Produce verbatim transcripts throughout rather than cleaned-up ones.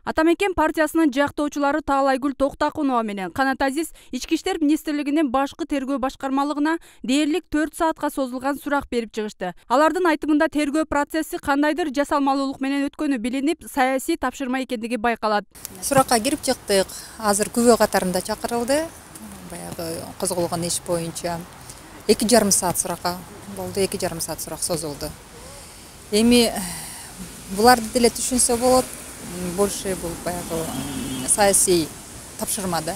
Атамекен партиясынын жактоочулары Таалайгүл Токтакунова менен Канат Азиз Ички иштер министрлигинин башкы тергөө башкармалыгына дээрлик төрт саатка созулган сурак берип чыгышты. Алардын айтымында тергөө процесси кандайдыр жасалмалуулук менен өткөнү билинип, саясий тапшырма экендиги байкалат. Суракка кирип чыктык. Азыр күбө катарында чакырылды. Баягы козголгон иш боюнча эки жарым саат суракка болду, эки жарым саат сурак созулду. Эми буларды деле түшүнсө болот. Больше бул баягы саясий тапшырма да.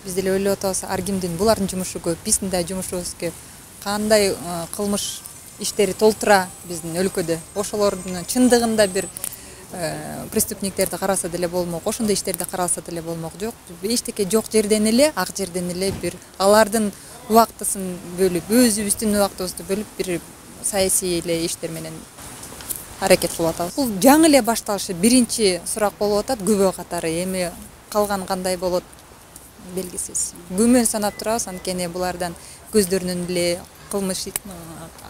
Биз деле ойлоп атабыз, ар кимдин булардын жумушу көп, биздин да жумушубуз көп. Кандай кылмыш иштери толтура биздин өлкөдө. Ошолордун чындыгында бир преступниктерди караса деле болмок, ошондой иштерди караса деле болмок. Жок, эчтеке жок жерден эле, ак жерден эле бир алардын убактысын бөлүп, өзүбүздүн убактыбызды бөлүп бир саясий эле иштер менен аракет кылып атабыз. Бул жаңы эле башталышы, биринчи сурак болуп атат, күбө катары. Эми калган кандай болот белгисиз. Күмөн санап турабыз, анткени булардан көздөрүнөн эле, кылмыш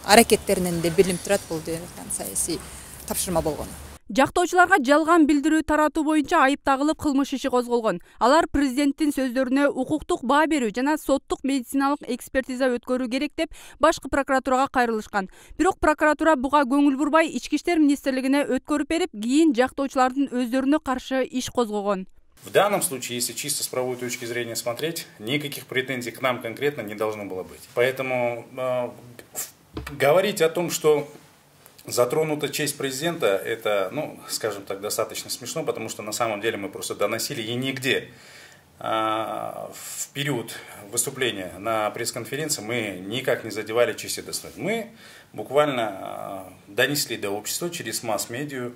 аракеттеринен эле билинип турат бул саясий тапшырма болгону. Жактоочуларга жалган билдирүү таратуу боюнча айып тагылып кылмыш иши козголгон. Алар президенттин сөздөрүнө укуктук баа берүү жана соттук медициналык экспертиза өткөрүү керек деп башкы прокуратурага кайрылышкан. Бирок прокуратура буга көңүл бурбай Ички иштер министрлигине өткөрүп берип, кийин жактоочулардын өздөрүнө каршы иш козгогон. В данном случае, если чисто с правовой точки зрения смотреть, никаких претензий к нам конкретно не должно было быть. Поэтому э, говорить о том, что затронута честь президента, это, ну, скажем так, достаточно смешно, потому что на самом деле мы просто доносили, и нигде а, в период выступления на пресс-конференции мы никак не задевали честь и достоинство. Мы буквально а, донесли до общества через масс-медиа,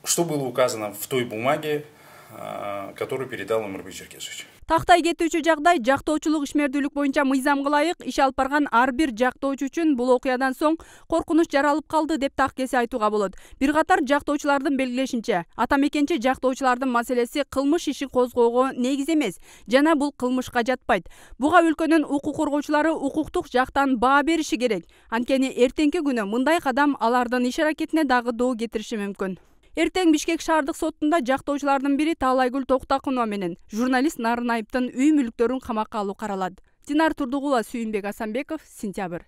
что было указано в той бумаге, а, которую передал Омурбек Черкесович. Тактай кетүүчү жагдай жактоочулук ишмердүүлүк боюнча мыйзамга ылайык иш алып барган ар бир жактоочу үчүн бул окуядан соң коркунуч жаралып калды деп так кесе айтууга болот. Бир катар жактоочулардын белгилешинче, атамекенчи жактоочулардын маселеси кылмыш иши козгоого негиз эмес жана бул кылмышка жатпайт. Буга өлкөнүн укук коргоочулары укуктук жактан баа бериши керек. Анткени эртеңки күнү мындай кадам алардын иш аракетине дагы доо кетириши мүмкүн. Эртең Бишкек шаардык сотунда жактоочулардын бири Таалайгүл Токтакунова менен журналист Нарынайыптын үй мүлктөрүн камакка алуу каралат. Динар Турдугулова, Сүйүнбек Асанбеков, Сентябрь.